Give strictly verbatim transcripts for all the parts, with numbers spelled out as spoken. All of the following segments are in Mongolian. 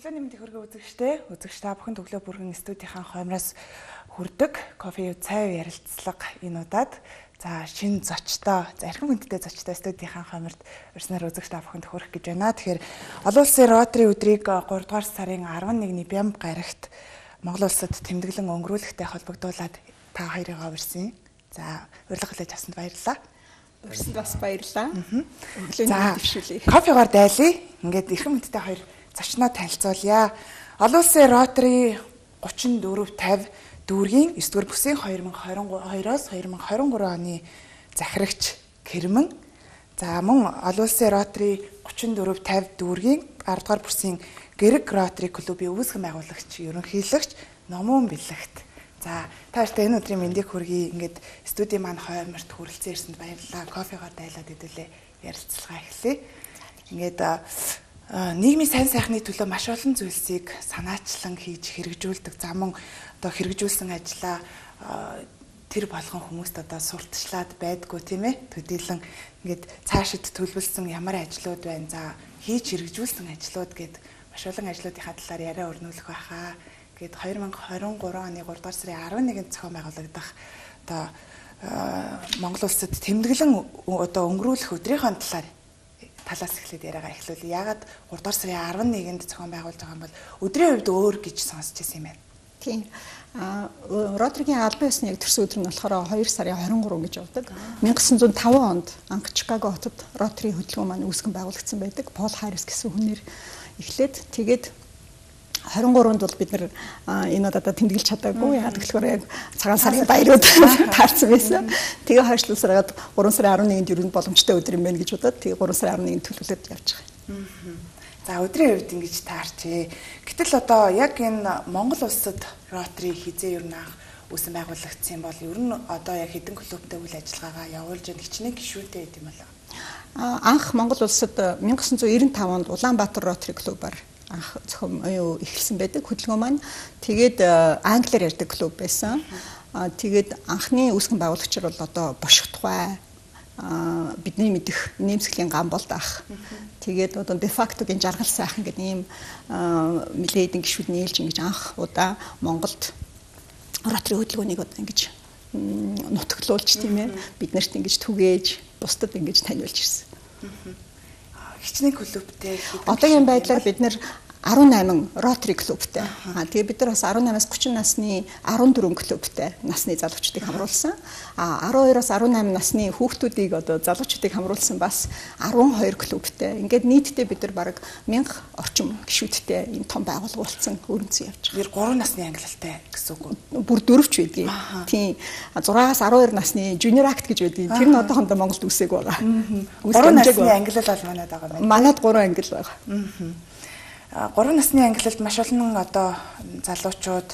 Өглөөний мэндийг хүргэн үзэгчтэй, үзэгч та бүхэн төглөө бүрхэн студийнхаа хоймроос хүрдэг кофе цай ярилцлага энэ удаад за шинэ зочтой, за эрхэм хүндтэй зочтой студийнхаа хойморд урьснаар үзэгч та бүхэнд хүрэх гэж байна. Тэгэхээр олон улсын Ротари өдрийг гурав дугаар сарын арван нэгний Бямб гарагт Монгол улсад тэмдэглэн өнгөрүүлэхтэй холбогдуулаад та хоёрыгаа урьсан. За урилга хүлээж авсанд баярлалаа. Урьсанд бас баярлалаа. Өглөөний дэвшүүлье. Кофегаар дайлъя. Ингээд эрхэм хүндтэй хоёр зочноо танилцуулъя. Олон улсын Ротари гучин дөрөв тавь дүүргийн эсвэр бүсийн хоёр мың хорин хоёроос хоёр мың хорин гурван оны захирагч Кэрмэн. За мөн олон улсын Ротари гучин дөрөв тавь дүүргийн арав дугаар бүсийн Гэрэг Ротари клубын үүсгэн байгуулагч, ерөнхийлөгч Номон Бэлэгт. За тааштай энэ өдрийн мэндийг хүргэе. Ингээд студийн маань хойморт хүрэлцэн ирсэнд баярлалаа. Кофегаар дайлаад хэдүүлээ ярилцлага эхлэе. Ингээд нийгмийн сайн сайхны төлөө маш олон зүйлсийг санаачлан хийж хэрэгжүүлдэг. За мөн одоо хэрэгжүүлсэн ажлаа тэр болгон хүмүүст одоо сурталчлаад байдгүй тийм ээ. Төдийлөн ингээд цаашид төлөвлөсөн ямар ажлууд байна. За хийж хэрэгжүүлсэн ажлууд гээд маш олон ажлуудынхаа талаар яриа өрнүүлэх байхаа. Гээд хоёр мың хорин гурван оны гурав дугаар сарын арван нэгнд зохион байгуулагдах одоо Монгол улсад тэмдэглэн одоо өнгөрүүлэх өдрийнхөө талаар талаас эхлээд яриагаа эхлүүлээ. Яагаад гурав дугаар сарын арван нэгнд зохион байгуулж байгаа юм бол өдрийн хувьд өөр гэж сонсч байсан юм байна. Тийм. А Ротаригийн албан ёсны яг төрсөн өдөр нь болохоор хоёр сарын хорин гурав гэж явдаг. мянга gysan зуун таван онд анх Чикаго хотод Ротари хөтөлбөр маань үүсгэн байгуулагдсан байдаг. Пол Харрис гэсэн хүнээр эхлээд тэгээд хорин гурванд бол бид нар энэ удаа тэмдэглэж чадаагүй. Яагаад гэвэл яг цагаан сарын баярууд таарсан байсан. Тэгээ хойшлуулсараад гурван сарын арван нэгэнд ер нь боломжтой өдөр юм байна гэж бодоод тэгээ гурван сарын арван нэгэнд төлөвлөлөд явж байгаа. За өдрийн хувьд ингэж таарчээ. Гэтэл одоо яг энэ Монгол улсад Ротари хизээ ер нь анх үүсгэн байгуулагдсан бол ер нь одоо яг хэдэн клубтэй үйл ажиллагаагаа явуулж байгаа хичнээн гишүүтэй гэдэг юм болоо. Анх Монгол улсад мянга gysan зуун девдүгээр онд Улаанбаатар Ротари клубаар анх зохион юу эхэлсэн байдаг хөдөлгөөн маань. Тэгээд англиар ярьдаг клуб байсан. Тэгээд анхны үүсгэн байгуулагчид бол одоо Бошготгой бидний мэдих Нэмсглийн Гамболд ах. Тэгээд одоо дефактогийн Жаргал сайхан гэдэг ийм милэдийн гишүүд нийлж ингэж анх удаа Монголд Ротари хөдөлгөөнийг одоо ингэж нутаглуулж тийм ээ бид нарт ингэж түгээж бусдад ингэж таниулж ирсэн. Хичнээн клубтэй одоогийн байдлаар бид нэр арван найман Ротари клубтэй. Аа тэгээ бид нар бас арван наймаас гучин насны арван дөрвөн клубтэй насны залуучдыг хамруулсан. Аа арван хоёроос арван найман насны хүүхдүүдийг одоо залуучдыг хамруулсан бас арван хоёр клубтэй. Ингээд нийтдээ бид нар бараг мянга орчим гишүүдтэй ийм том байгууллага болсон өрнөцөн явж байгаа. Тэр гурван насны ангилалтай гэсэн үг үү? Бүр дөрөвч байдгийг. Тийм. зургаас арван хоёр насны Junior Act гэж байдгийг. Тэр нь одоохондоо Монголд үсэг байгаа. гурван насны ангилал бол манайд байгаа юм байна. Манайд гурван ангил байгаа. гурван насны ангилалд маш олон одоо залуучууд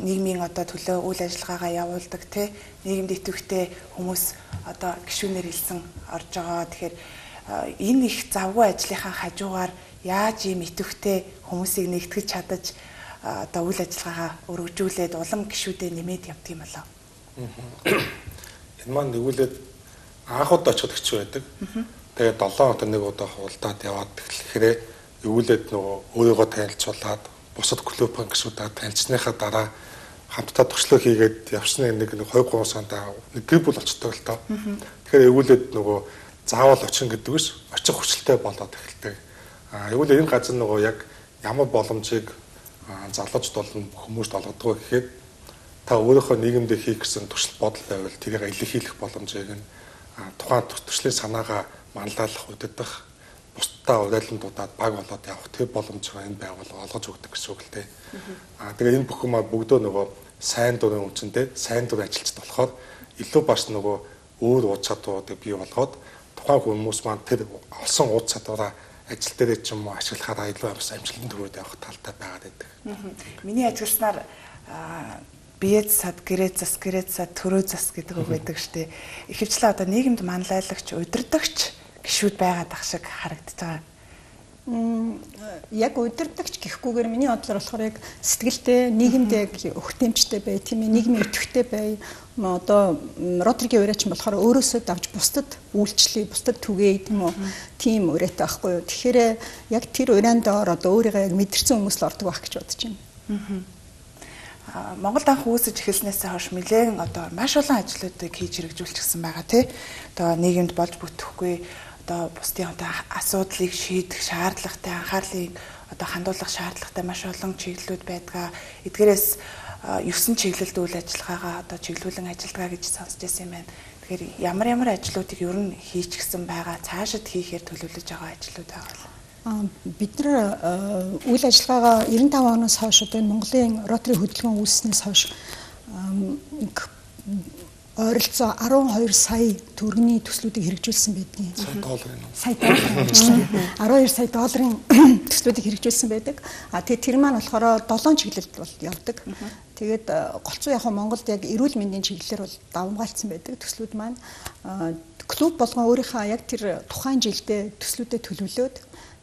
нийгмийн одоо төлөө үйл ажиллагаагаа явуулдаг тий нийгэмд идэвхтэй хүмүүс одоо гишүүнээр хэлсэн орж байгаа. Тэгэхээр энэ их завгүй ажлынхаа хажуугаар яаж ийм идэвхтэй хүмүүсийг нэгтгэж чадаж одоо үйл ажиллагаагаа өргөжүүлээд улам гишүүдэд нэмээд явдаг юм болоо. Энэ маань нэгүүлээд анх удаа очиход хэцүү байдаг. Тэгээд долоон хоног нэг удаа хуулдаад яваад тэгэхээр өвлөд нөгөө өөрийгөө танилцуулаад бусад клубын гишүүдээ танилцсныхаа дараа хамтдаа туршлага хийгээд явсны нэг нэг хоёр гурван сандаа нэг гэр бүл болчтой л тоо. Тэгэхээр өвлөд нөгөө заавал очин гэдэг биш очих хүчлээ болоод эхэлдэг. А өвлөд энэ газар нөгөө яг ямар боломжийг залуучд болон хүмүүст олгодог гэхэд та өөрийнхөө нийгэмдээ хийх гэсэн туршилт бодол байвал тэрийг илэрхийлэх боломжийг нь тухайн туршлагын санаагаа манлайлах удирдах бусдаа урайландуудад баг болоод явах тэр боломжийг энэ байгууллага олгож өгдөг гэсэн үг л дээ. Аа тэгээ энэ бүхэн маань бүгдөө нөгөө сайн дурын үнцэндээ сайн дур ажилчид болохоор илүү бас нөгөө өөр уд чадваруудыг бий болгоод тухайн хүмүүс маань тэр олсон уд чадвараа ажил дээр ч юм уу ашиглахаараа илүү бас амжилтанд хүрээд явах талтай байгаад байдаг. Миний ажигласнаар биед сад гэрээ зас гэрээ зас төрөө зас гэдэг үг байдаг штеп. Ихэвчлэн одоо нийгэмд манлайлагч, удирдагч гишүүд байгаад ах шиг харагдаж байгаа. Яг удирдагч гэхгүйгээр миний бодлоор болохоор яг сэтгэлтэй, нийгэмд яг өгтөмжтэй бай, тийм ээ, нийгмийн идэвхтэй бай. Одоо Ротригийн ураач болохоор өөрөөсөө давж бусдад үйлчлэе, бусдад түгээе тийм үү. Тийм ураатай байхгүй юу. Тэгэхээр яг тэр ураанд ор одоо өөрийгөө яг мэдэрсэн хүмүүс л ордог байх гэж бодож байна. Монголд анх үүсэж эхэлснээс хойш нэлээд одоо маш олон ажлуудыг хийж хэрэгжүүлчихсэн байгаа тий. Одоо нийгэмд болж бүтэхгүй одоо бусдын одоо асуудлыг шийдэх шаардлагатай анхаарлыг одоо хандуулах шаардлагатай маш олон чиглэлүүд байдгаа. Эдгээрээс ёс сон чиглэлд үйл ажиллагаагаа одоо чиглүүлэн ажиллагаа гэж сонсч байсан юм байна. Тэгэхээр ямар ямар ажлуудыг ер нь хийчихсэн байгаа, цаашид хийхээр төлөвлөж байгаа ажлууд байгаа. Бид нар үйл ажиллагаагаа девяносто пять оноос хойш одоо энэ Монголын Ротри хөдөлгөөн үүснээс хойш ойролцоо арван хоёр сая төгрөгийн төслүүдийг хэрэгжүүлсэн байдгийг. Сая долларын. Сая долларын. арван хоёр сая долларын төслүүдийг хэрэгжүүлсэн байдаг. А тэгээд тэр маань болохоор долоон чиглэлд бол явдаг. Тэгээд голцоо яг Монголд яг эрүүл мэндийн чиглэлээр бол давмгаалцсан байдаг төслүүд маань. Клуб болгон өөрийнхөө яг тэр тухайн жилдээ төслүүдэд төлөвлөөд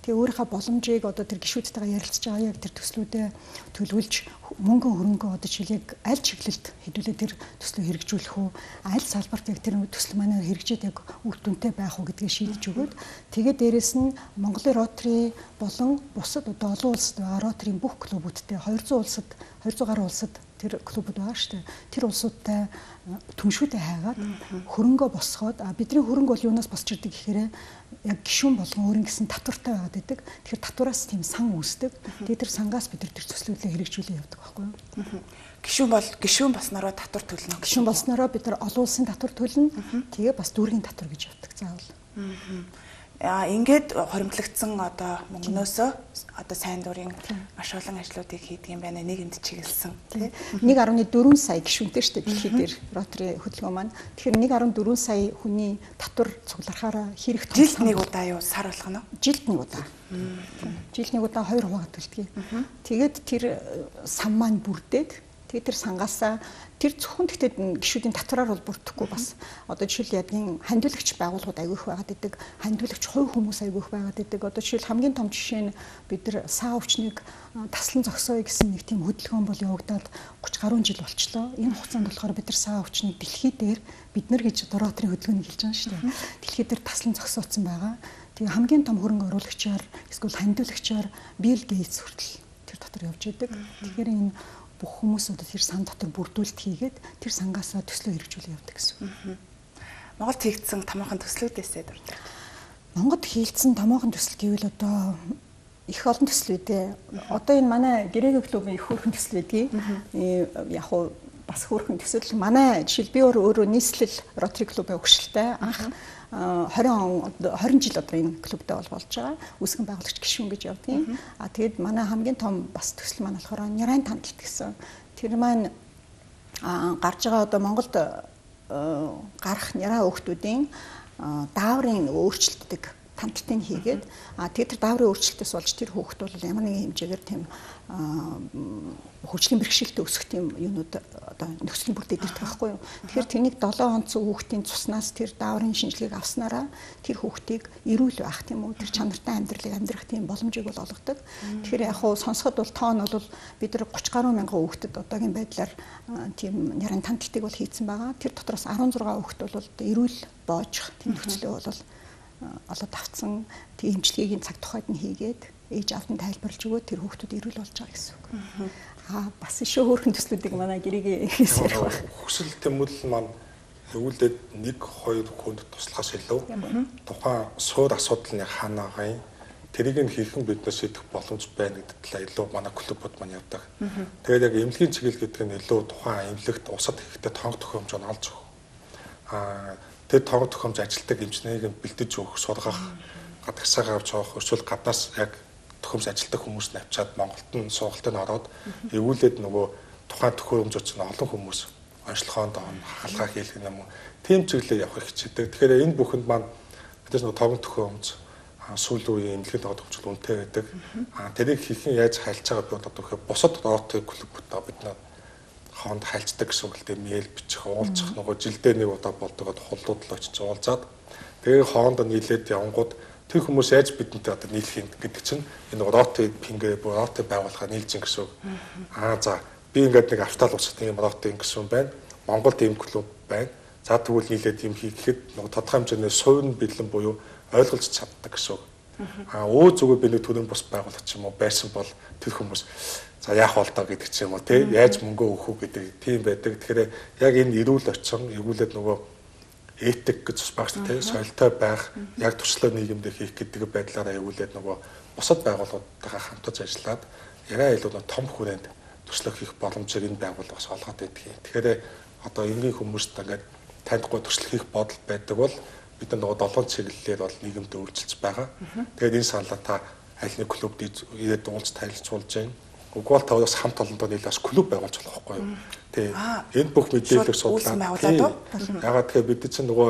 тэгээ өөрийнхөө боломжийг одоо тэр гишүүдтэйгээ ярилцж байгаа яг тэр төслүүдэд төлөвлөж мөнгө хөрөнгө одоо жишээл яг аль чиглэлд хэдүүлээ тэр төслөө хэрэгжүүлэх үү, аль салбарт яг тэр төсөл манаар хэрэгжээд яг үр дүнтэй байх уу гэдгийг шийдэж өгөөд тэгээ дээрэс нь Монголын Ротри болон бусад одоо олон улсад байгаа Ротрийн бүх клубүүдтэй хоёр зуун улсад хоёр зуун гаруй улсад тэр клубуд байгаа шүү дээ. Тэр улсуудтай түншүүдэд хайгаад хөрөнгө босгоод бидний хөрөнгө бол юунаас босч ирдэг гэхээр яг гишүүн болгон өөрийн гэсэн татвартай байгаад байдаг. Тэгэхээр татвараас тийм сан үүсдэг. Тэгээд тэр сангаас бид тэр төслүүдээ хэрэгжүүлээ явдаг байхгүй юу? Гишүүн бол гишүүн болсноороо татвар төлнө. Гишүүн болсноороо бид нар олон улсын татвар төлнө. Тэгээ бас дүүргийн татвар гэж явдаг заавал. Аа ингээд хоримтлагдсан одоо мөнгнөөсөө одоо сайн дурын маш олон ажлуудыг хийдэг юм байна. Нийгэмд чиглэсэн тий. нэг гаруй дөрвөн сая гишүүнтэй шүү дээ дэлхийд дээр Ротри хөдөлгөөн маань. Тэгэхээр нэг гаруй дөрвөн сая хүний татвар цугларахаараа хэрэг жилд нэг удаа юу сар болгоно? Жилд нэг удаа. Жилд нэг удаа хоёр хуваагаад төлдөг. Тэгээд тэр сан маань бүрдээд тэгээд тэр сангаасаа тэр зөвхөн тэгтээ гишүүдийн татвараар бол бүрдэхгүй бас одоо жишээл ядгийн хандиулагч байгууллагууд аягүйх байгаад идэг, хандиулагч хувь хүмүүс аягүйх байгаад идэг. Одоо жишээл хамгийн том жишээ нь бид нар саа өвчнийг таслан зогсооё гэсэн нэг тийм хөдөлгөөн бол явагдаад гуч гаруй жил болчлоо. Энэ хугацаанд болохоор бид нар саа өвчнийг дэлхий дээр бид нар гэж одоо Ротрийн хөдөлгөөнийг хэлж байгаа шүү дээ. Дэлхий дээр таслан зогсооцсон байгаа. Тэгээ хамгийн том хөрөнгө оруулагчаар эсвэл хандиулагчаар Билл Гейтс хүртэл тэр дотор явж идэг. Тэгэхээр энэ бүх хүмүүс одоо тэр сан дотор бүрдүүлэлт хийгээд тэр сангаасаа төслөө хэрэгжүүлээ явдаг гэсэн. Монголд хийгдсэн томоохон төслүүдээсээ дуртай. Монголд хийгдсэн томоохон төсөл гэвэл одоо их олон төсөл үүдээ. Одоо энэ манай Гэрээгийн клубын их хөөрхөн төсөл байдгийг. Яг уу бас хөөрхөн төсөл манай жишээл би өөрөө нийслэл Ротри клубын өгшөлтэй анх двадцать жил одоо энэ клубтэй бол болж байгаа. Үүсгэн байгуулагч гишүүн гэж явдгийн. А тэгээд манай хамгийн том бас төсөл маань болохоор Нярайн тандалт гэсэн. Тэр маань гарч байгаа одоо Монголд гарах няраа хүүхдүүдийн дааврын өөрчлөлтөд тандалтыг хийгээд а тэгээд тэр дааврын өөрчлөлтөөс болж тэр хүүхд бол ямар нэгэн хэмжээгээр тийм хөгжлийн бэрхшээлтэй өсөх тийм юунууд одоо нөхцөлийн бүрдээд ирдэг байхгүй юу. Тэгэхээр тэрнийг долоон онцгой хүүхдийн цуснаас тэр дааврын шинжилгээг авснараа тэр хүүхдийг эрүүл байх тийм үү тэр чанартай амьдралыг амьдрах тийм боломжийг бол олгодог. Тэгэхээр яг хуу сонсоход бол тоон бол бид нар гуч гаруй мянган хүүхдэд одоогийн байдлаар тийм няран тандалтыг бол хийцэн байгаа. Тэр дотроос арван зургаан хүүхд бол эрүүл боожих тийм нөхцөлөө бол олоод авцсан тийм эмчилгээгийн цаг тухайд нь хийгээд ээж аавд нь тайлбарлаж өгөө тэр хүүхдүүд эрүүл болж байгаа гэсэн үг. Аа бас ишөө хөөрхөн төслүүдийг манай гэрээгийн хийсээр байна. Хүсэл тэмүүлэл маань өвөлдөд нэг хоёр хүнд туслахаас илүү тухайн суур асуудал нь хаана байгаа юм тэрийг нь хийхэн биднээс шийдэх боломж байна гэдэг талаа илүү манай клубуд маань явдаг. Тэгээд яг эмнэлгийн чиглэл гэдэг нь илүү тухайн эмнэлэгт усад хийхдээ тоног төхөөрөмж нь олж өгөх. Аа тэр тоног төхөөрөмж ажилтдаг эмчнийг бэлдэж өгөх, сургах, гадагшаагаа авч явах, өршөөл гаднаас яг төхөөрөмж ажилтдаг хүмүүс нь авчаад Монголд нь сургалтыг ороод эвүүлээд нөгөө тухайн төхөөрөмжөд чинь олон хүмүүс онцлогоонд хаалгаа хийх юм уу тийм чиглэлээр явах хичээдэг. Тэгэхээр энэ бүхэнд маань бидээс нөгөө тоног төхөөрөмж сүүлийн үеийн эмнэлгийн тоног төхөөрөмж үнэтэй байдаг. Аа тэрийг хийхэн яаж хайлж байгаа би одоо тэгэхээр бусад Ротри клубуудаа бид нэ хонд хайлцдаг гэсэн үг л дээ мэйл бичих уулзах нөгөө жилдээ нэг удаа болдог хуллууд л очиж уулзаад тэгээ хонд нийлээд явангууд тэр хүмүүс яаж бидэнтэй одоо нийлэх юм гэдэг чинь энэ роти пингэ роти байгуулахаар нийлж ин гэсэн үг. Аа за би ингээд нэг автал усах тийм роти гэсэн байна. Монголд ийм клуб байна. За тэгвэл нийлээд юм хийхэд нэг тодорхой хэмжээний суурь бэлэн буюу ойлгуулж чаддаг гэсэн үг. Аа өө зүгээр би нэг төрийн бус байгуулах ч юм уу байсан бол тэр хүмүүс за яах бол доо гэдэг ч юм уу тий яаж мөнгө өгөх үү гэдэг тийм байдаг. Тэгэхээр яг энэ эрүүл очин эргүүлээд нөгөө этик гэж бас багш тий соёлтой байх яг туршлага нийгэмд хийх гэдэг байдлаараа эргүүлээд нөгөө бусад байгууллагуудтайгаа хамтарч ажиллаад яриа илүү том хүрээнд туршлага хийх боломжийг энэ байгууллага бас олгоод байдаг юм. Тэгэхээр одоо энгийн хүмүүст ингээд танихгүй туршлага хийх бодол байдаг бол бид нөгөө долоон чиглэлээр бол нийгэмд өөрчилж байгаа. Тэгээд энэ саналаа та аль нэг клубд ирээд уулз танилцуулж байна. Уггүй та бас хамт олондоо нийлээс клуб байгуулж болох байхгүй юу? Тий. Энэ бүх мэдээлэлийг судлаад ягаад тэгэхээр бид чинь нөгөө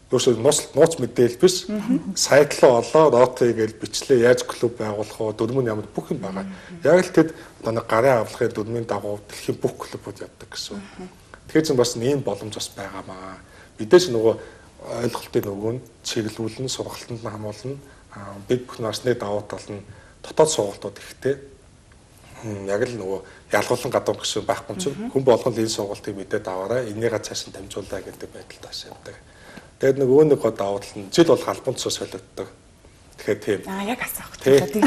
өөрөөсөө нууц нууц мэдээлэл биш сайт руу олоо роти гэж бичлээ яаж клуб байгуулах вэ? Дөрмөн ямар бүх юм байгаа. Яг л тэд одоо нэг гарын авлагын дөрмийн дагуу дэлхийн бүх клубуд явдаг гэсэн. Тэгэхээр чинь бас ийм боломж бас байгаамаа. Бидээс нөгөө ойлголтын нөгөө нь чиглүүлэн сургалтанд нь хамуулна. Бид бүх насны давуу тал нь дотоод сургалтууд ихтэй. Яг л нөгөө ялгуулсан гадуур гэсэн байхгүй ч хүн болгон энэ сургалтыг мэдээд аваарай. Энийгээ цааш нь дамжуулаа гэдэг байдалд бас явдаг. Тэгээд нөгөө нэг гоо давуу тал нь жил бол галбанцсоо солиоддог. Тэгэхээр тийм. Аа яг асаах. Тэгээд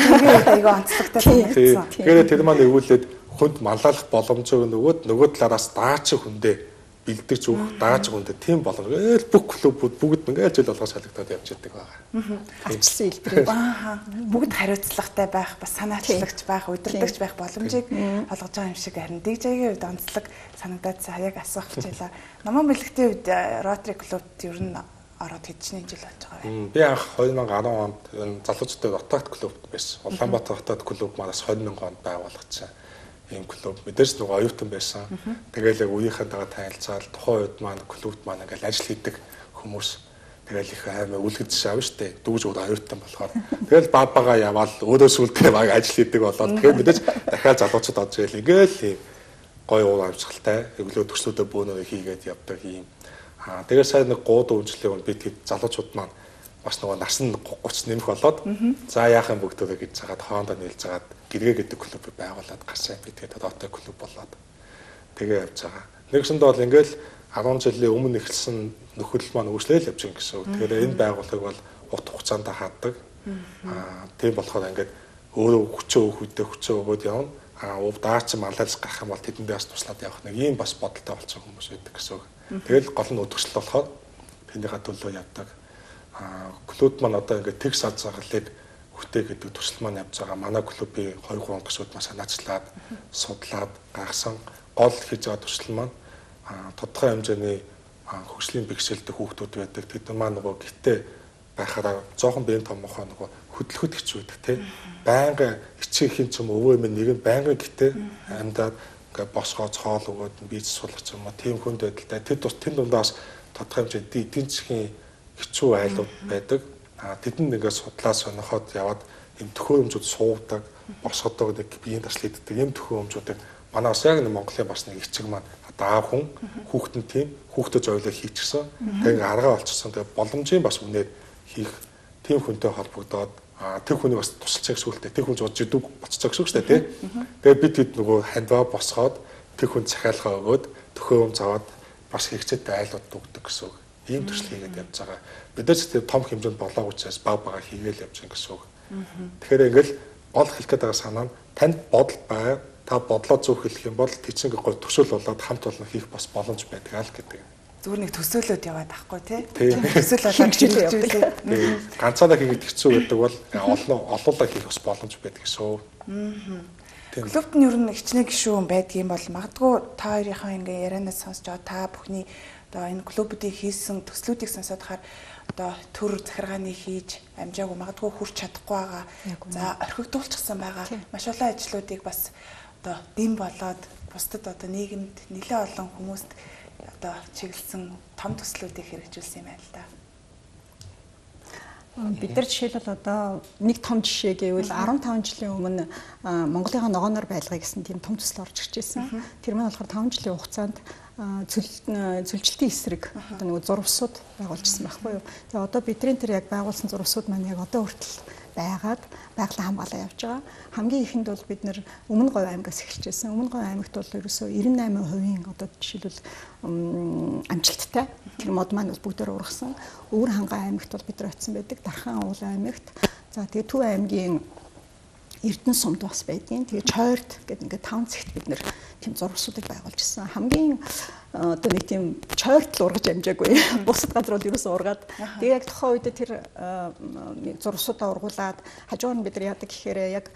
айгаа онцлогтой санагдсан. Тэгэхээр тэр маань өвүүлээд хүнд маллах боломжоо нөгөөд нөгөө талаараас даач хүндээ бэлдэж өгөх дааж хүндээ тийм боломж. Ээл бүх клубүүд бүгд ингээд жил болгоо солигдоод явж идэг байгаа. Авчсан хэлбэрээ. Аа бүгд хариуцлагатай байх, бас санаачлагч байх, удирдахч байх боломжийг олгож байгаа юм шиг харин ди-джейгийн хувьд онцлог санагдаад яг асуух хичээлээ. Наман бэлэгтийн хувьд Rotary клубт ер нь ороод хэдчний жил болж байгаа вэ? Би анх две тысячи десять онд энэ залуучуудын дотоод клубт байсан. Улаанбаатар дотоод клуб манаас две тысячи онд байгуулагдсан. Ийм клуб мэдээж нөгөө оюутан байсан. Тэгээл яг үеийнхэнтэйгээ танилцаад тухайн үед маань клубт маань ингээл ажил хийдэг хүмүүс тэгээл их аймаа үлгэж шаав штэ. Дүүж өөр оюутан болохоор тэгээл бабагаа яваал өөрөө сүлдээ баг ажил хийдэг болоод тэгээд мэдээж дахиад залуучууд орж ирэл ингээл ийм гоё уур амьсгалтай өглөө төслүүдөө бөөнөрөө хийгээд явдаг ийм. Аа тэгээд сайн нэг гууд үйлчлэлийн үед бид залуучууд маань бас нөгөө нас нь тридцать нэмэх болоод за яах юм бүгдөө гэж цагаад хоорондоо нийлж загаад гэргээ гэдэг клуб байгуулад гарсан. Би тэгээд Rotary клуб болоод тэгээ явж байгаа. Нэгсэндээ бол ингээл десять жилийн өмнө эхэлсэн нөхөрлөл маань өөрчлөл явж байгаа гэсэн үг. Тэгэхээр энэ байгууллагыг бол урт хугацаанд хаадаг. Аа тийм болохоор ингээд өөрөө хүчөө өөх үедээ хүчөө өгөөд явна. Аа ув даач малайлж гарах юм бол тэдэндээ бас туслаад явах нэг ийм бас бодолтой болсон хүмүүс байдаг гэсэн үг. Тэгэл гол нь өдөрсөл болохоор тэндийхээ төлөө явдаг. Клуб маань одоо ингээд тэгс аз жаргалыг хөтэй гэдэг төсөл маань явж байгаа. Манай клубын two three гишүүд маань санаачлаад судлаад гаргасан гол хийж байгаа төсөл маань тодорхой хэмжээний хөгжлийн бэхжилдэг хүүхдүүд байдаг. Тэд маань нөгөө гитээ байхаараа жоохон биеийн томохоо нөгөө хөдөлгөд хэцүү байдаг тий. Байнга ичээхийн ч юм өвөө минь нэг нь байнга гитээ амьдаад ингээд босгоо цоол өгөөд бийж суулгах юм уу тийм хүнд байдалтай. Тэд тус тэнд дундаас тодорхой хэмжээний эдийн засгийн хэцүү айлууд байдаг. А тэдэнд ингээд судлаа сонирхоод яваад юм төхөөрөмжүүд суудаг, босгодог нэг биеийн таслал хийдэг. Ийм төхөөрөмжүүдийг манай бас яг нэг Монголын бас нэг эцэг маань даав хүн хүүхдэн тийм хүүхдэд зориулаад хийчихсэн. Тэгээд аргаа олчихсон. Тэгээд боломжийн бас үнээр хийх тийм хүнтэй холбогдоод тэр хүний бас тусалцаа гэсэн үгтэй. Тэр хүн жоо жидэг боццоо гэсэн үг шүү дээ, тийм. Тэгээд бид хэд нөгөө хандваа босгоод тэр хүн захиалгаа өгөөд төхөөрөмж аваад бас хэрэгцээтэй айлууд өгдөг гэсэн үг. Ийм төсөл хийгээд явж байгаа. Бид нар ч том хэмжээнд болоог учраас баг бага хийгээл явж байгаа гэсэн үг. Тэгэхээр ингээл гол хэлэх гээд байгаа санаа нь танд бодол бай, та бодлоо зөв хэлэх юм бол тийчинг гой төсөөл болоод хамт олон хийх бас боломж байдаг аа л гэдэг. Зүгээр нэг төсөөлөд яваад ахгүй тий. Төсөөл болоод хичээлээ. Ганцаараа хийгээд хэцүү байдаг бол олон олоолаа хийх бас боломж байдаг гэсэн. Клубт нь ер нь хичнээн гишүүн байдгийн бол магадгүй та хоёрынхаа ингээ ярианаас сонсож байгаа та бүхний одоо энэ клубүүдийн хийсэн төслүүдийг сонсоод хахаар одоо төр захиргааны хийж амжаагүй магадгүй хүрч чадахгүй байгаа. За орхигдуулчихсан байгаа. Маш олон ажлуудыг бас одоо дэм болоод бусдад одоо нийгэмд нэлээд олон хүмүүст одоо чиглэсэн том төслүүдийг хэрэгжүүлсэн юм байна л да. Бид нар жишээлбэл одоо нэг том жишээ гэвэл арван таван жилийн өмнө Монголынхаа ногооноор байлгая гэсэн тийм том төсөл орж ирж байсан. Тэр маань болохоор таван жилийн хугацаанд зүлжилтийн эсрэг одоо нэг зурвсууд байгуулжсэн байхгүй юу. Тэгээ одоо бидний тэр яг байгуулсан зурвсууд маань яг одоо хүртэл байгаад байгалийн хамгаалаа явж байгаа. Хамгийн ихэнд бол бид нэр Өмнө Говь аймгаас эхэлжсэн. Өмнө Говь аймагт бол ерөөсөө девяносто восемь хувийн одоо жишээлбэл амжилттай тэр мод маань бол бүгдээр ургасан. Өвөр Хангай аймагт бол бид нар очисон байдаг. Дархан уул аймагт. За тэгээ Төв аймгийн Эрдэнэ сумд бас байдгийн. Тэгээ Чойрт гэдэг ингээд таван цэгт бид нэр тийм зурвсуудыг байгуулж ирсэн. Хамгийн одоо нэг тийм чойрт л ургаж амжаагүй. Бусад газрууд ерөөсөө ургаад. Тэгээ яг тухайн үед тэр зурвсуудаа ургуулад хажуугаар нь бид нар яадаг гэхээр яг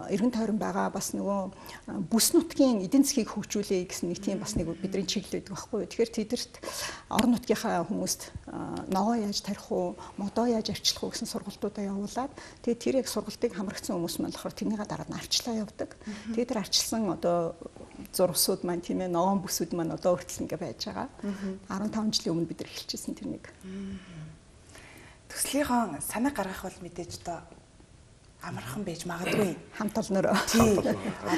эргэн тойрон байгаа бас нөгөө бүс нутгийн эдийн засгийг хөгжүүлэе гэсэн нэг тийм бас нэг бидний чиглэл байдаг байхгүй юу. Тэгэхээр тэдэрт орон нутгийнхаа хүмүүст ногоо яаж тарих уу, модоо яаж арчлах уу гэсэн сургалтуудаа явуулаад тэгээ тэр яг сургалтыг хамрагдсан хүмүүс маань болохоор тэрнийгээ дараад нь арчлаа явдаг. Тэгээ тэр арчилсан одоо зурвсууд маань тийм ээ ногоон бүсүүд маань одоо хүртэл ингээ байж байгаа. арван таван жилийн өмнө бид нар эхэлчихсэн тэр нэг. Төслийнхөө санаа гаргах бол мэдээж одоо амархан байж магадгүй. Хамт олноор.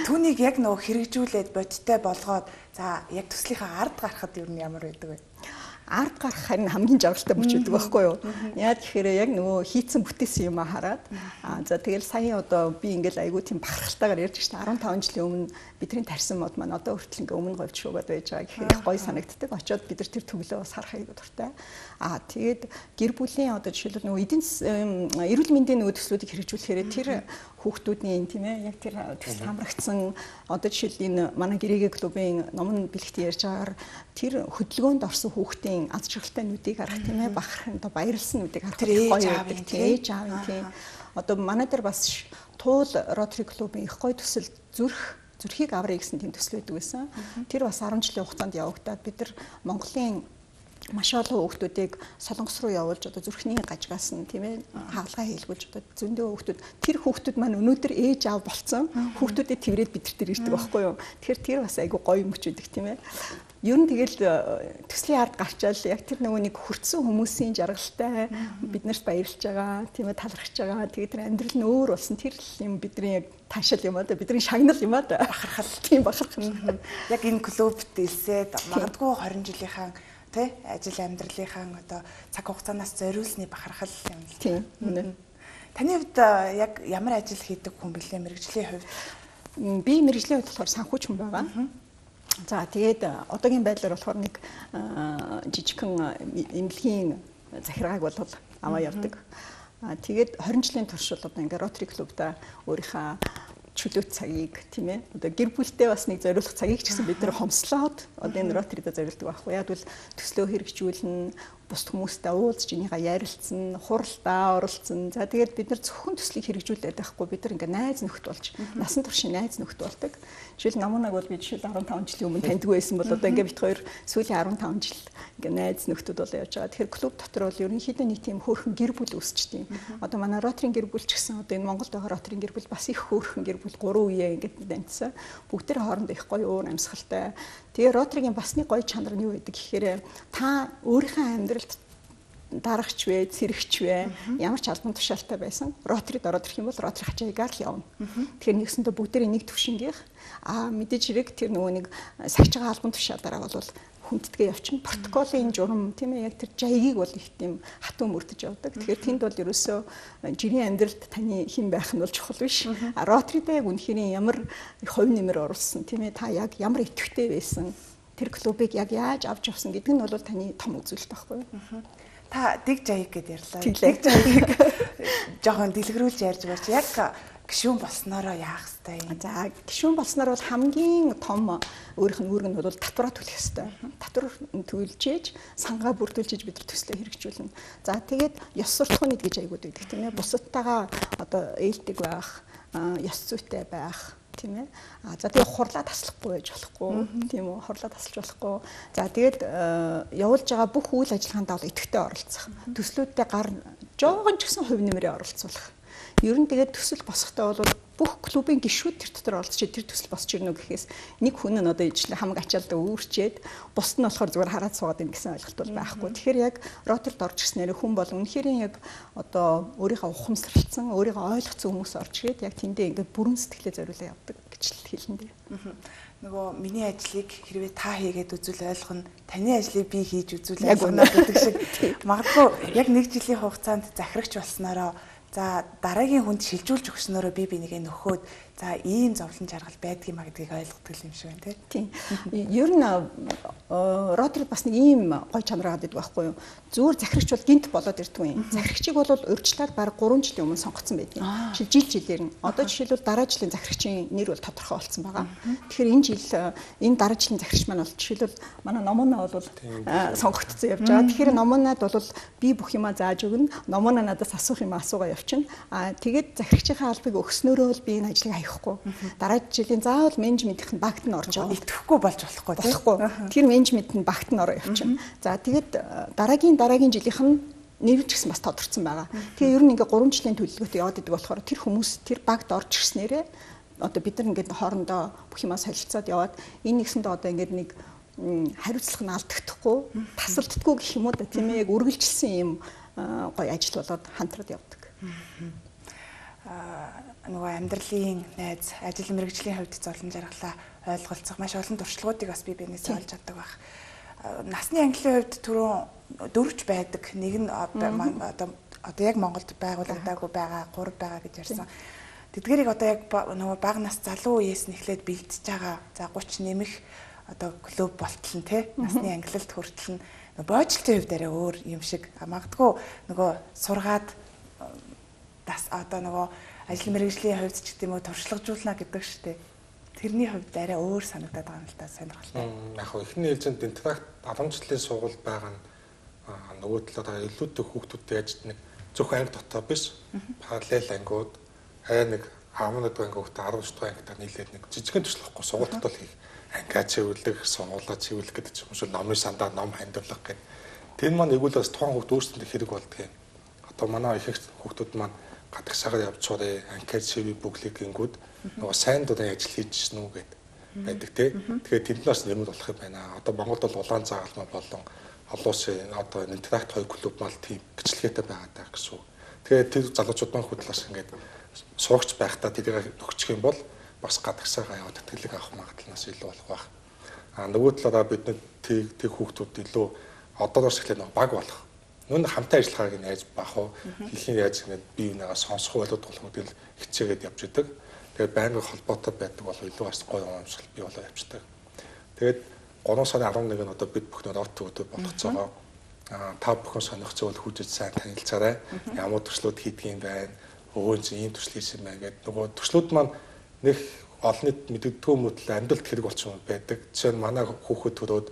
Түүнийг яг нөгөө хэрэгжүүлээд бодиттой болгоод за яг төслийнхаа ард гарахад юу нь ямар байдаг вэ? Ард гарах харин хамгийн жаргалтай мөч байдаг байхгүй юу? Яа тэгэхээр яг нөгөө хийцэн бүтээсэн юм хараад аа за тэгэл сая одоо би ингээл айгүй тийм бахархалтайгаар ярьж штэ арван таван жилийн өмнө бидний тарьсан мод маань одоо хүртэл ингээ өмнө говьд шуугаад байж байгаа гэхээр их гоё санагддаг. Очоод бид нар тэр төглөө бас харах айгүй дуртай. Аа тэгээд гэр бүлийн одоо жишээлбэл нөгөө эдийн эрүүл мэндийн нөгөө төслүүдийг хэрэгжүүлэхээр тэр хүүхдүүдийн тийм ээ яг тэр төсөл хамрагдсан одоо жишээл энэ манай гэрээгээ клубын номон бэлэгт ярьж байгаагаар тэр хөдөлгөөнд орсон хүүхдийн аз жаргалтай нүдийг харах тийм ээ бахархан одоо баярлсан нүдийг харах гоё байдаг тийм ээж аавын тийм одоо манай дээр бас туул Rotary клубын их гоё төсөл зүрх зүрхийг аврыг гэсэн тийм төсөл байдаг байсан. Тэр бас арван жилийн хугацаанд явагдаад бид нар Монголын маш олон хүүхдүүдийг Солонгос руу явуулж одоо зүрхний гажгаас нь тийм ээ хаалгаа хийлгүүлж одоо зөндөө хүүхдүүд тэр хүүхдүүд маань өнөөдөр ээж аав болцсон хүүхдүүдэд тэрвэрэд бид нар тэр ирдэг байхгүй юу. Тэгэхээр тэр бас айгүй гоё мөч үүдэг тийм ээ. Ер нь тэгэл төслийн ард гарчаал яг тэр нөгөө нэг хүртсэн хүмүүсийн жаргалтай биднэрт баярлж байгаа тийм ээ талархж байгаа. Тэгээд тэр амьдрал нь өөр болсон тэр юм бидний яг таашаал юм аа да бидний шагнал юм аа да бахархал тийм бахархал. Яг энэ клубт илсээд магадгүй хорин жилийнхаа тэ ажил амьдралынхаа одоо цаг хугацаанаас зориулсны бахархал юм л тийм. Таны хувьд яг ямар ажил хийдэг хүн бэлээ мэрэгжлийн хувьд? Би мэрэгжлийн хувьд болохоор санхүүч хүн байгаа. За тэгээд одоогийн байдлаар болохоор нэг жижигхэн эмнэлгийн захиргааг бол аваа явдаг. Тэгээд двадцать жилийн турш бол одоо ингээ Rotary клубта өөрийнхөө чөлөөт цагийг тийм ээ одоо гэр бүлтэй бас нэг зориулах цагийг ч гэсэн бид нэр хомслоод одоо энэ Rotary-д зориулдаг байхгүй яг бол төслөө хэрэгжүүлнэ бус хүмүүстэй уулзж энийгээ ярилцсан, хуралдаа оролцсон. За тэгээд бид нар зөвхөн төслийг хэрэгжүүлээд байхгүй бид нар ингээ найз нөхд болж насан туршийн найз нөхд болдог. Жишээл намунаг бол би жишээл арван таван жилийн өмнө таньдаг байсан бол одоо ингээ бит хоёр сүүлийн арван таван жил ингээ найз нөхдөд бол явж байгаа. Тэгэхээр клуб дотор бол ерөнхийдөө нэг тийм хөөрхөн гэр бүл үүсчихдээ. Одоо манай Rotary гэр бүл ч гэсэн одоо энэ Монголд байгаа Rotary гэр бүл бас их хөөрхөн гэр бүл гурван үеэ ингээ дамжсан. Бүгд тэр хоорондоо их гоё уур амьсгалтай. Тэгээ Rotary-гийн бас нэг гоё чанар нь юу байдаг гэхээр та өөрийнхөө амьдралд дарагч вэ, цэрэгч вэ, ямар ч албан тушаалтай байсан Rotary-д ороод ирэх юм бол Rotary хачаагаар л явна. Тэгэхээр нэгсэндээ бүгдээрээ нэг төвшингийнх аа мэдээж хэрэг тэр нөгөө нэг сахиж байгаа албан тушаалаараа бол хүндэтгээ явчихна. Протоколын журам тийм ээ яг тэр жаягийг бол их тийм хатуу мөрдөж явдаг. Тэгэхээр тэнд бол ерөөсөө жирийн амьдралд таны хэн байх нь бол чухал биш. А Rotary-д яг үнэхээр ямар хувь нэмэр оруулсан тийм ээ та яг ямар идэвхтэй байсан тэр клубыг яг яаж авч явсан гэдэг нь бол таны том үзүүлэлт байхгүй юу? Та дэг жаяг гэдээ ярьлаа. Дэг жаяг жоохон дэлгэрүүлж ярьж байгаа чи яг гишүүн болсноороо яах вэ? За гишүүн болсноор бол хамгийн том өөрийнх нь үүрэг нь бол татвараа төлөх ёстой. Татвар төлжээж, сангаа бүрдүүлж бид нар төслөө хэрэгжүүлнэ. За тэгээд ёс суртахууны гэж аягууд байдаг тийм ээ. Бусадтайгаа одоо ээлдэг байх, ёс зүйтэй байх тийм ээ. А за тэгээ хурлаа таслахгүй байж болохгүй тийм үү? Хурлаа тасалж болохгүй. За тэгээд явуулж байгаа бүх үйл ажиллагаанд бол идэвхтэй оролцох. Төслүүдтэй гар жоохон ч гэсэн хувь нэмрээ оролцуулах. Ер нь тэгээд төсөл босохдоо бол бүх клубын гишүүд тэр дотор олдч тэр төсөл босч ирнэ гэхээс нэг хүн нь одоо ижлээ хамаг ачаалдаа өөрчээд бусд нь болохоор зүгээр хараад суугаад ийн гэсэн ойлголт бол байхгүй. Тэгэхээр яг роторд орж ирснээр хүн бол үнэхээр яг одоо өөрийнхөө ухамсарлцсан, өөрийгөө ойлгоцсон хүмүүс орж ирээд яг тэндээ ингээд бүрэн сэтгэлээ зориулаад явдаг гэж л хэлнэ дээ. Нөгөө миний ажлыг хэрвээ та хийгээд үзвэл ойлгоно, таны ажлыг би хийж үзвэл ойлгоно гэдэг шиг магадгүй яг нэг жилийн хугацаанд захирагч болсноороо за дараагийн хүнд шилжүүлж өгснөөрөө би бинийгээ нөхөөд за ийм зовлон жаргал байдгийг маа гэдгийг ойлгодог юм шиг байна тийм. Ер нь ротор бас нэг ийм гой чанар гадаг байхгүй юу? Зүгээр захирагч бол гинт болоод ирдэг юм. Захирагчийг бол урьдчилаад бараг гурван жилийн өмнө сонгогдсон байдаг. Жил жилээр нь. Одоо жишээлбэл дараа жилийн захирагчийн нэр бол тодорхой болсон байгаа. Тэгэхээр энэ жил энэ дараа жилийн захирагч маань бол жишээлбэл манай номоноо бол сонгогдсон явж байгаа. Тэгэхээр номоноод бол би бүх юмаа зааж өгнө. Номоноо надаас асуух юм асуугаа явчихна. Аа тэгээд захирагчийн албыг өгснөөрөө л би энэ ажлыг аяхгүй. Дараа жилийн заавал менежментийн багт нь орж байгаа. Итгэхгүй болж болохгүй болохгүй. Тэр менежментийн багт нь ороо явчихна. За тэгээд дараагийн дараагийн жилийнх нь нэр ч гэсэн бас тодорцсон байгаа. Тэгээ ер нь ингээ гурван жилийн төлөвлөгөөтэй яваад идэг болохоор тэр хүмүүс тэр багт орж ирснээрээ одоо бид нар ингээд хоорондоо бүх юмаа солилцоод яваад энэ нэгсэндээ одоо ингээд нэг хариуцлага нь алдагдахгүй, тасалддаггүй гэх юм уу да тийм ээ яг үргэлжилсэн юм гоё ажил болоод хамтраад явдаг. Аа нөгөө амьдралын найз, ажил мэргэжлийн хувьд зовлон жаргалаа ойлголцох маш олон туршлагуудыг бас би биенээс олж авдаг баг. Насны ангиллын хувьд түрүүн дөрвч байдаг. Нэг нь одоо одоо яг Монголд байгуулагдаагүй байгаа, гурав байгаа гэж ярьсан. Тэдгэрийг одоо яг нөгөө бага нас залуу үеэс нь эхлээд бэлдэж байгаа. За гуч нэмэх одоо клуб болтол нь тий насны ангиллалд хүртэл нь боожлтын хувьд арай өөр юм шиг магадгүй нөгөө сургаад бас одоо нөгөө ажил мэргэжлийн хувьд ч гэдэм үү туршлагажуулна гэдэг штеп. Тэрний хувьд арай өөр санагдаад байгаа юм л та сонирхолтой. Яг хөө эхний ээлжинд интракт алам жилийн сургууль байгаа нь нөгөө талаараа илүүтэй хүүхдүүдтэй яаж нэг зөвхөн анги дотоо биш параллел ангиуд арай нэг хамнад ангиудтай арав дахь ангитай нийлээд нэг жижигхэн туршлахгүй сургууль дотор хийх ангиа чивүүлэх, сургуулаа чивүүлэх гэдэг ч юм уу номын сандаа ном хандуулах гэдэг. Тэр маань эгүүл бас тухайн хүүхд өөрсөндөө хэрэг болдгийг. Одоо манай их хүүхдүүд маань гадагшаагаар явж чурээ анкет шиви бүглийг гингүүд нөгөө сайн дурын ажил хийж гэнэ үү гэд байдаг тий. Тэгэхээр тэнднээс нэмэр болох юм байна. Одоо Монголд бол улаан заагалмаа болон олон улсын одоо интеракт хоёр клуб мал тийм гिचлгээтэй байгаа даа гэсэн үг. Тэгэхээр тэр залуучууд маань хөдлөөс ингээд суугч байхдаа тэрийг төгчих юм бол бас гадагшаагаа яваад тэтгэлэг авах магадлалаас илүү болох байх. А нөгөө талаараа бид нэг тэг хүүхдүүд илүү одоороос эхлээд нэг баг болох. Нүн хамтаа ажиллахааг найз бах уу хийхин яаж ингэж бие бинийгаа сонсох болоод болох үйл хичээгээд явж идэг. Тэгээд байнгын холбоотой байдаг бол илүү бас гоё юмшил бий болоо явждаг. Тэгээд гурван сарын арван нэг нь одоо бид бүхэн рот өдөр болгоцоогоо а та бүхэн сонирхцоо бол хүжиж сайн танилцаарай. Ямар төслүүд хийдэг юм байна. Өвөө ийм төсөл хийсэн байна гэдэг нөгөө төслүүд маань нэг олонний мэддэггүй мөдөл амьдралд хэрэг болчихсон байдаг. Жишээ нь манай хүүхэд төрөөд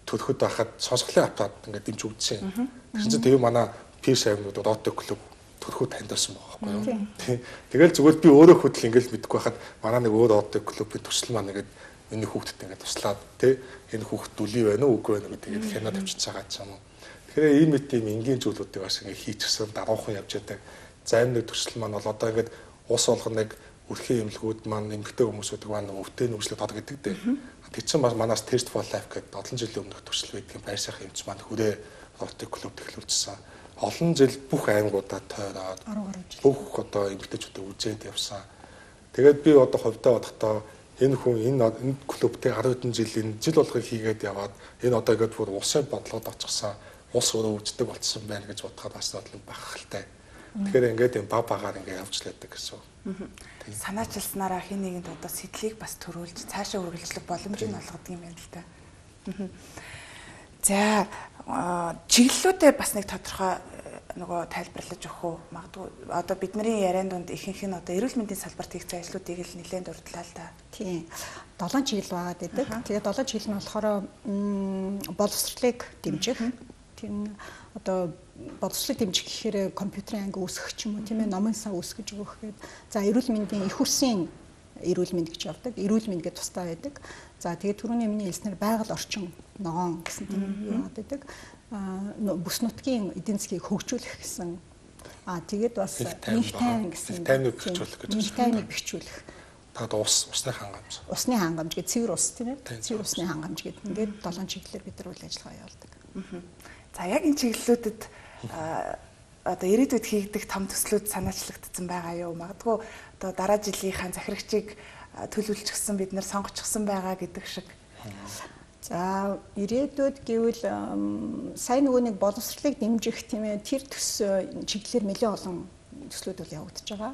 төрөхөд байхад сонсголын автаад ингээд дэмж өгдсөн. Тэгэхээр чинь тэр манай пиш аймагуд рото клуб төрөхөд таньдсан байгаа байхгүй юу. Тэгэл зүгээр би өөрөө хөдөл ингээд мэдгүй байхад манай нэг өөр рото клубын төсөл маань ингээд миний хүүхдэд ингээд туслаад тий энэ хүүхд дүлий байна уу үгүй байна гэдэг тэгээд хянаад авчиж байгаа ч юм уу. Тэгэхээр ийм мэт ийм энгийн зүйлүүдийг бас ингээд хийчихсэн даруухан явж байдаг. Зарим нэг төсөл маань бол одоо ингээд ус болгоныг үрхийн эмнэлгүүд маань эмгтэй хүмүүсүүд маань өвтэй нүжлөд тод гэдэг дээ. Тэр чинь манаас Taste for Life гэдэг олон жилийн өмнөх төсөл байдгийн байр сайхан эмч маань хүрээ ротик клуб тэглүүлжсэн. Олон жил бүх аймагуудад тойроод бүх одоо эмгтэйчүүдээ үзээд явсан. Тэгээд би одоо ховдоо бодохдоо энэ хүн энэ энэ клубтэй арван хэдэн жилийн жил болгыг хийгээд яваад энэ одоо ингээд бүр усын бодлогод очихсан ус өөрөө үздэг болцсон байна гэж бодоход бас бодлоо бахалтай. Тэгэхээр ингээд юм баг багаар ингээд явж лээдэг гэсэн. Санаачилснараа хин нэгэнд одоо сэтлийг бас төрүүлж цаашаа үргэлжлэх боломжийг олгодог юм байна л та. За чиглэлүүдээ бас нэг тодорхой нөгөө тайлбарлаж өгөх үү? Магадгүй одоо бидний ярианд донд ихэнх нь одоо эрүүл мэндийн салбарт хийх ажлуудыг л нэлээд дурдлаа л да. Тийм. долоон чиглэл байгаа гэдэг. Тэгээд долоон чиглэл нь болохоор боловсролыг дэмжих. Тэр нь одоо боловсролыг дэмжих гэхээр компьютерийн анги үүсгэх ч юм уу тийм ээ номын сан үүсгэж өгөх гэдэг. За эрүүл мэндийн их усны эрүүл мэнд гэж явдаг. Эрүүл мэнд гэж тустай байдаг. За тэгээд түрүүний миний хэлснээр байгаль орчин ногоон гэсэн тийм юу байдаг. А бүс нутгийн эдийн засгийг хөгжүүлэх гэсэн Аа тэгээд бас их тайван гэсэн тайвныг бэхжүүлэх гэж. Их тайвныг бэхжүүлэх. Тэгээд ус усны хангамж. Усны хангамж гэдэг цэвэр ус тийм ээ. Цэвэр усны хангамж гэдэг. Ингээд долоон чиглэлээр бид нар үйл ажиллагаа явуулдаг. За яг энэ чиглэлүүдэд одоо ирээдүйд хийгдэх том төслүүд санаачлагдсан байгаа юу? Магадгүй одоо дараа жилийнхаа захирагчийг төлөвлөжчихсэн бид нар сонгочихсон байгаа гэдэг шиг. За ирээдүйд гэвэл сайн нөгөө нэг боловсролыг дэмжих тийм ээ тэр төс чиглэлээр нэлээд олон төслүүд бол явагдаж байгаа.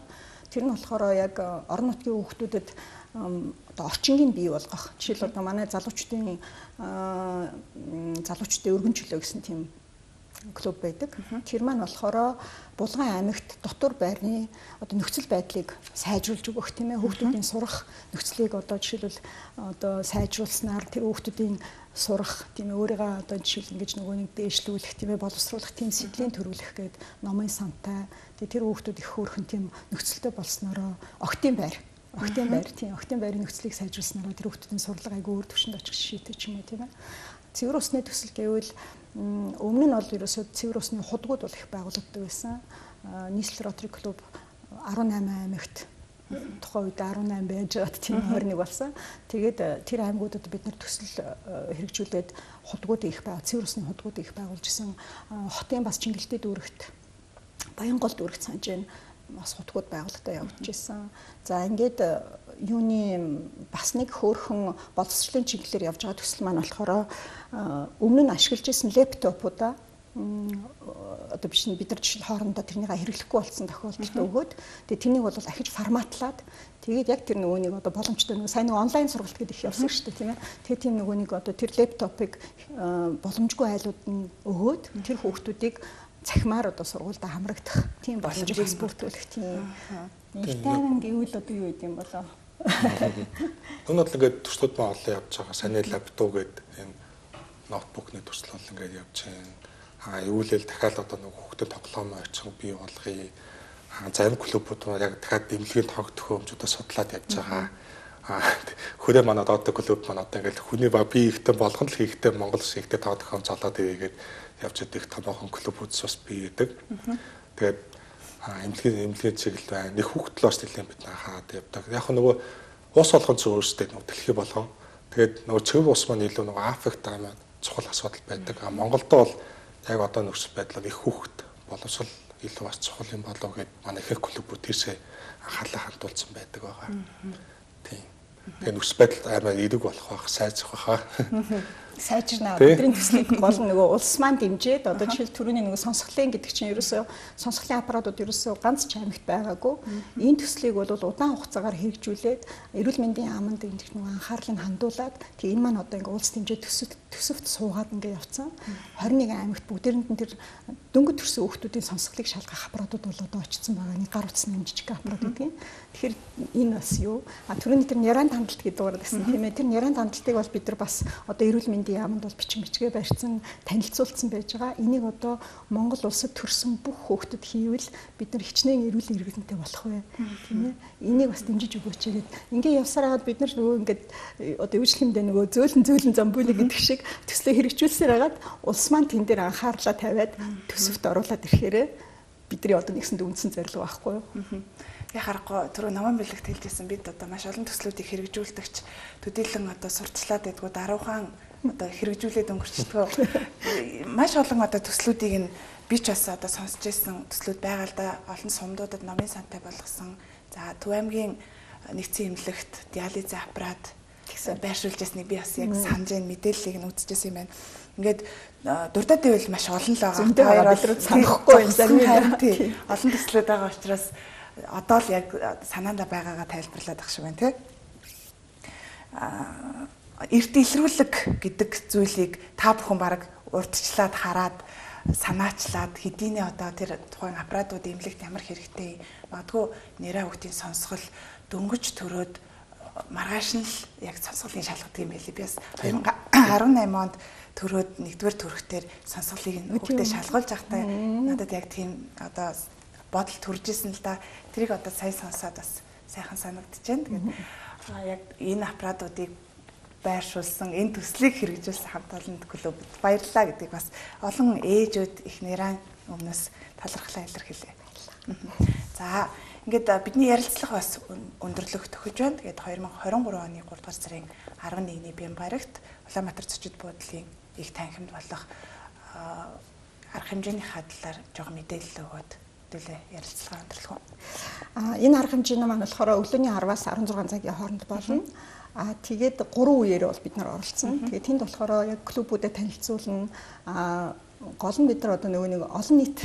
Тэр нь болохоор яг орон нутгийн хүүхдүүдэд одоо орчингийн бий болгох. Жишээл одоо манай залуучдын залуучдын өргөн чөлөө гэсэн тийм клуб байдаг. Тэр маань болохоор Булган аймагт дотор байрны одоо нөхцөл байдлыг сайжруулж өгөх тийм ээ хүүхдүүдийн сурах нөхцөлийг одоо жишээлбэл одоо сайжруулснаар тэр хүүхдүүдийн сурах тийм ээ өөрийгөө одоо жишээл ингэж нөгөө нэг дээшлүүлэх тийм ээ боловсруулах тийм сэдвийн төрүүлэх гээд номын сантай тэр хүүхдүүд их хөөрхөн тийм нөхцөлтэй болсноороо октийн байр октийн байр тийм октийн байрын нөхцөлийг сайжруулснараа тэр хүүхдүүдийн сурлага айгүй өөр түвшинд очих шийдэж юм уу тийм ээ. Цэвэр усны төсөл гэвэл өмнө нь бол ерөөсөө цэвэр усны худгууд бол их байгуулагддаг байсан. Нийслэл Ротари клуб арван найман аймагт тухайн үед арван найман байж байгаад тийм хоёр нэг болсон. Тэгээд тэр аймагуудад бид нар төсөл хэрэгжүүлээд худгууд их байг, цэвэр усны худгууд их байгуулж исэн. Хотын бас Чингэлтэй дүүрэгт Баянгол дүүрэгт санжийн бас хутгууд байгуулалтаа явуулж ирсэн. За ингээд юуны бас нэг хөөрхөн боловсролын чиглэлээр явж байгаа төсөл маань болохоор өмнө нь ашиглаж исэн лэптопуудаа одоо биш бид нар жишээ хоорондоо тэрнийг хэрэглэхгүй болсон тохиолдолд өгөөд тэгээ тэрнийг бол ахиж форматлаад тэгээд яг тэр нөгөө нэг одоо боломжтой нөгөө сайн нэг онлайн сургалт гэдэг их явсан шүү дээ тийм ээ. Тэгээ тийм нөгөө нэг одоо тэр лэптопыг боломжгүй айлууд нь өгөөд тэр хүүхдүүдийг цахимаар одоо сургуультай хамрагдах тийм боломжийг бас бүрдүүлэх тийм их тайван гэвэл одоо юу гэдэм болоо. Өнөөдөр л ингээд төслүүд маань олон явж байгаа. Саний лаптоп гэдэг энэ ноутбукны төсөл бол ингээд явж байна. Аа юулэл дахиад одоо нэг хүүхдэд тоглоом очих бий болгоё. Аа зарим клубүүд маань яг дахиад дэмжлэгийн тог төхөөрөмжүүдөө судлаад явж байгаа. Аа хүрээ манай одоо клуб маань одоо ингээд хүний ба би ихтэй болгоно л хийхтэй Монгол шигтэй тог төхөөрөмж олоод ирэгээд явж идэх томоохон клубүүдс бас бий гэдэг. Тэгээд эмнэлгийн эмнэлгийн чиглэл байна. Нэг хүүхдлоос нэлээд бид хаад явдаг. Яг нөгөө ус болгон ч өөрсдөө нөгөө дэлхий болгон. Тэгээд нөгөө цэвэр ус маань илүү нөгөө Африкт байгаа чухал асуудал байдаг. А Монголд бол яг одоо нөхцөл байдлаар их хүүхд боловсрол илүү бас чухал юм болов гэд манай их клубүүд тийшээ анхаарлаа хандуулсан байдаг байгаа. Тийм. Тэгээд нөхцөл байдал аймаа эерэг болох байх, сайжрах байх. Сайжирнаа. Бидний төслийг гол нөгөө улс маань дэмжиж одоо жишээл түрүүний нөгөө сонсголын гэдэг чинь ерөөсөө сонсголын аппаратууд ерөөсөө ганц ч аймагт байгаагүй. Энэ төслийг бол удаан хугацаагаар хэрэгжүүлээд эрүүл мэндийн яамд энэ нөгөө анхаарлыг хандуулад тэг энэ маань одоо ингээ улс дэмжиж төсөвт төсөвт суугаад ингээ явцсан. хорин нэг аймагт бүгдээрэнд нь тэр дөнгөж төрсэн хүүхдүүдийн сонсголыг шалгах аппаратууд бол одоо очсон байгаа. Нэг гар утасны жижиг аппарат гэдэг. Тэгэхээр энэ бас юу? А түрүүний тэр няран хандлт гэдэг дугаар гэсэн тийм ээ. Тэр няран хандлтыг бол бид нар бас одоо эрүүл мэндийн яамд бол бичиг бичгээ барьсан танилцуулсан байж байгаа. Энийг одоо Монгол улсад төрсэн бүх хүүхдэд хийвэл бид нар хичнээн эрүүл иргэнтэй болох вэ? Тийм ээ. Энийг бас дэмжиж өгөөч гэдэг. Ингээ явсаар хагаад бид нар нөгөө ингээд одоо өвчлөмдөө нөгөө зөөлөн зөөлөн замбүлэг гэдэг шиг төслөө хэрэгжүүлсээр хагаад улс маань тэн дээр анхаарлаа тавиад төсөвт оруулаад ирэхээр бидний одоо нэгсэнд үндсэн зорилго байхгүй юу? Я харахгүй түрүү наман бэлэгт хэлжсэн бид одоо маш олон төслүүдийг хэрэгжүүлдэгч төдийлөн одоо сурталчлаад байдгүй даруухан одоо хэрэгжүүлээд өнгөрчдөг. Маш олон одоо төслүүдийг нь би ч бас одоо сонсч ирсэн төслүүд байгаа л да. Олон сумдуудад номын сантай болгосон. За Төв аймгийн нэгдсэн эмнэлэгт диализын аппарат гэсэн байршуулж ясныг би бас яг санаж байна, мэдээллийг нь үзчихсэн юм байна. Ингээд дурдаад байвал маш олон л байгаа. Хоёр өдрөд санахгүй юм зарим тийм. Олон төслүүд байгаа учраас одоо л яг санаанда байгаагаа тайлбарлаад ах шиг байна тий. Аа эрт илрүүлэг гэдэг зүйлийг та бүхэн баг урдчлаад хараад санаачлаад хэдийнэ одоо тэр тухайн аппаратууд эмнэлэгт ямар хэрэгтэй магадгүй нэрээ хүүхдийн сонсгол дөнгөж төрөөд маргааш нь л яг сонсголын шалгадаг юм байли. Би бас две тысячи десять онд төрөөд нэгдүгээр төрөхтөр сонсголыг хүүхдэд шалгуулж байхдаа надад яг тийм одоо бодол төрж исэн л да. Тэрийг одоо сайн сонсоод бас сайхан санагдаж байна. Тэгээд яг энэ аппаратуудыг байршуулсан, энэ төслийг хэрэгжүүлсэн хамт олонд клубд баярлалаа гэдгийг бас олон ээжүүд их нэрэн өмнөөс талархлаа илэрхийлье. За ингээд бидний ярилцлага бас өндөрлөх төхөж байна. Тэгээд two thousand twenty-three оны three дугаар сарын eleventh-ний Бямбарагт Улаанбаатар зочид буудлын их танхимд болох арга хэмжээний хадлаар жоо мэдээлэл өгөөд төлөө ярилцлага өндөрлөх. А энэ арга хэмжээ маань болохоор өглөөний ten-аас sixteen цагийн хооронд болно. А тэгээд гурван үеэр бол бид нар оролцсон. Тэгээд тэнд болохоор яг клубүүдэд танилцуулна. А гол нь бид нар одоо нөгөө нэг олон нийт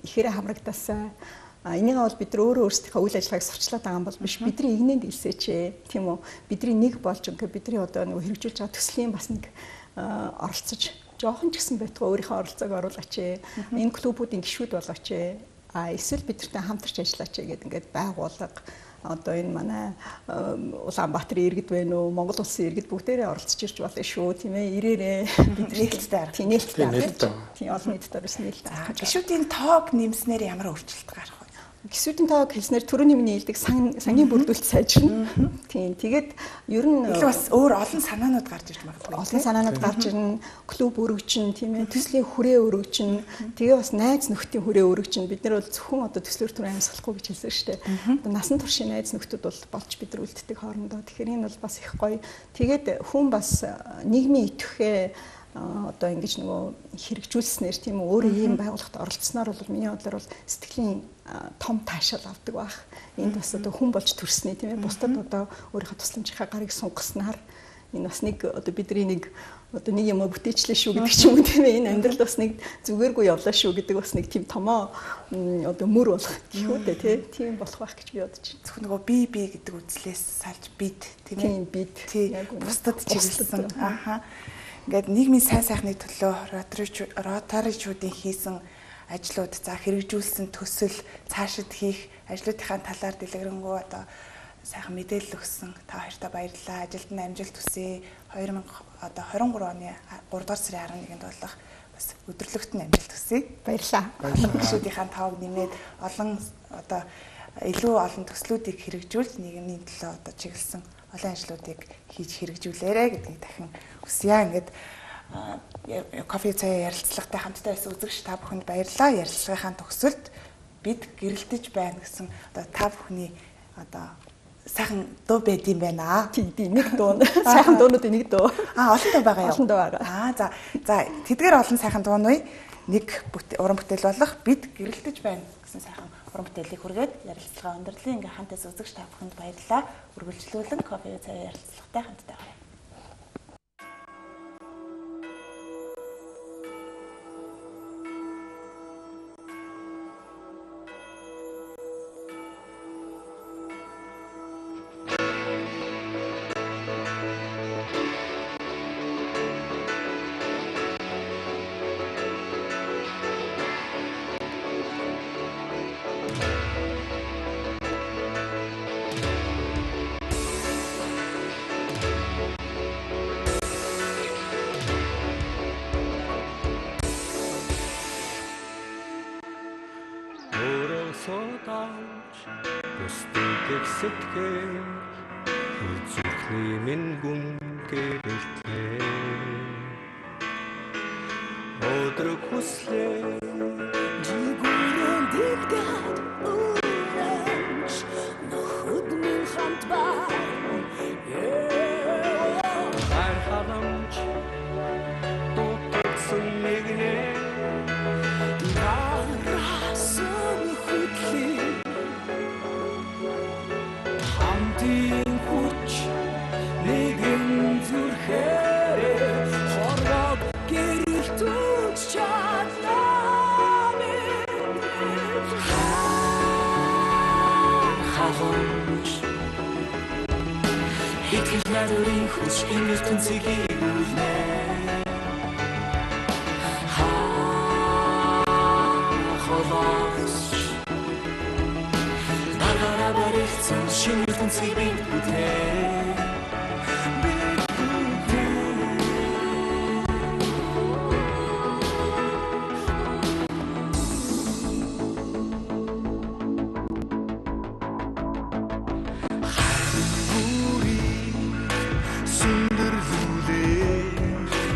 ихээр хамрагдасаа. А энийг бол бид нар өөрөө өөрсдийнхөө үйл ажиллагааг сурчлаад байгаа юм бол биш. Бидний игнэнд илсээч тийм үү. Бидний нэг болж ингээ бидний одоо нөгөө хэрэгжүүлж байгаа төслийн бас нэг оролцож жоохон ч гэсэн байтугай өөрийнхөө оролцоог оруулаач. Энэ клубүүдийн гишүүд болооч. А эсвэл бидэртэй хамтарч ажиллаач гэдэг ингээд байгуулга одоо энэ манай Улаанбаатарын иргэд байна уу, Монгол улсын иргэд бүгдээрээ оролцож ирж болно шүү, тийм ээ. Ирээрээ бид нээлттэй арга. Тийм нээлттэй арга. Тийм олон нийтэд орсон нээлттэй. Гишүүдийн тоог нэмснээр ямар өөрчлөлт гарах вэ? Гисүүдийн тоог хэлснээр төрөний миний хэлдэг сангийн бүрдүүлэлт сайжирна. Тийм. Тэгээд ер нь бас өөр олон санаанууд гарч ирж магадгүй. Олон санаанууд гарч ирнэ. Клуб өргөжин, тийм ээ. Төслийн хүрээ өргөжин. Тэгээ бас найз нөхдийн хүрээ өргөжин. Бид нар бол зөвхөн одоо төслөөр түр амьсгалахгүй гэж хэлсэн шүү дээ. Насан туршийн найз нөхдүүд бол болж бид нар үлддэг хоорондоо. Тэгэхээр энэ бол бас их гоё. Тэгээд хүн бас нийгмийн идэвхээ одоо ингэж нөгөө хэрэгжүүлснээр тийм үү өөрөө ийм байгууллагад оролцсноор бол миний бодлоор бол сэтгэлийн том таашаал авдаг байх. Энд бас одоо хүн болж төрснээ тийм ээ бусдад одоо өөрийнхөө тусламжийнхаа гарыг сунгаснаар энэ бас нэг одоо бидний нэг одоо нэг юм бүтээчлээ шүү гэдэг ч юм уу тийм ээ энэ амьдрал бас нэг зүгээргүй явлаа шүү гэдэг бас нэг тийм томоо одоо мөр болох гэх үү те тийм болох байх гэж би бодож байна. Зөвхөн нөгөө би би гэдэг үзлээс салж бид тийм ээ бид яг бусдад чиглэсэн ааха ингээд нийгмийн сайн сайхны төлөө ротаричуудын хийсэн ажлууд за хэрэгжүүлсэн төсөл цаашид хийх ажлуудынхаа талаар дэлгэрэнгүй одоо сайхан мэдээлэл өгсөн та хоёртаа баярлалаа. Ажилд нь амжилт хүсье. two thousand одоо twenty-three оны three дугаар сарын eleventh-нд болох бас өдөрлөгт нь амжилт хүсье. Баярлалаа. Гишүүдийнхаа тоог нэмээд олон одоо илүү олон төслүүдийг хэрэгжүүлж нийгмийн төлөө одоо чиглэсэн олон ажлуудыг хийж хэрэгжүүлээрэ гэдгийг дахин хүсье. Ингээд кофе цай ярилцлагатай хамтдаа байсан үзэгч та бүхэнд баярлалаа. Ярилцлагынхаа төгсөлд бид гэрэлтэж байна гэсэн одоо та бүхний одоо сайхан дуу байд юм байна. Тийм нэг дуу. Сайхан дуунуудын нэг дуу. Аа олон дуу байгаа юу? Олон дуу байгаа. Аа за за тэдгээр олон сайхан дуунууд нэг уран бүтээл болох бид гэрэлтэж байна гэсэн сайхан уран бүтээлийг хүргээд ярилцлага өндөрлөө. Ингээ хамтаас үзэгч та бүхэнд баярлалаа. Үргэлжлүүлэн кофе цай ярилцлагатай хамтдаа байна. Сэтгэл үзүрхний минь гүн гэрэлтээ өдрөг хүслээ жигүүрэн дилгээд уурч нөхөд минь хамт ба хар халамж тутсан нэгнээ нарасан хөтлөө Хамтын хүч нэгэн зүрхээр хорвог гэрэлтүүч чадлаа минь халамж итгэл найдварын хүч ингэж тэнцгийг үлнэ халамж Шинэ ертөнцийг бид бүтээ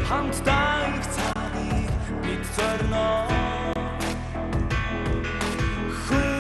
Хамтдаа их цагийг бид зорно Хөө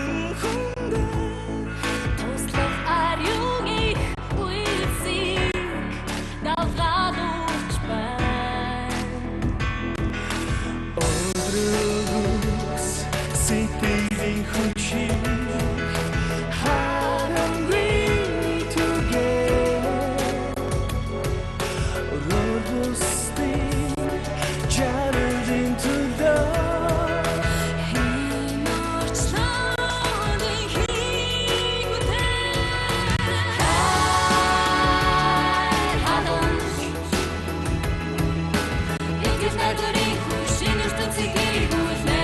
найдварын хүчин ертөнцийг гүйцэлнэ.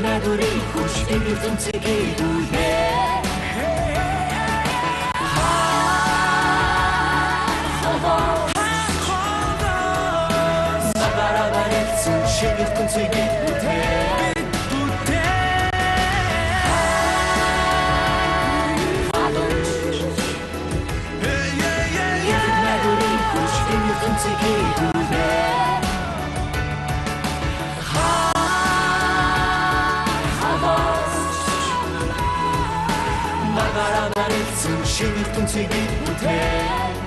Найдварын хүчин ертөнцийг гүйцэлнэ. Шинэ ертөнцийг бүтээн найдварын хүчин ертөнцийг гүйцэлнэ. Шинэ ертөнцийг бүтээн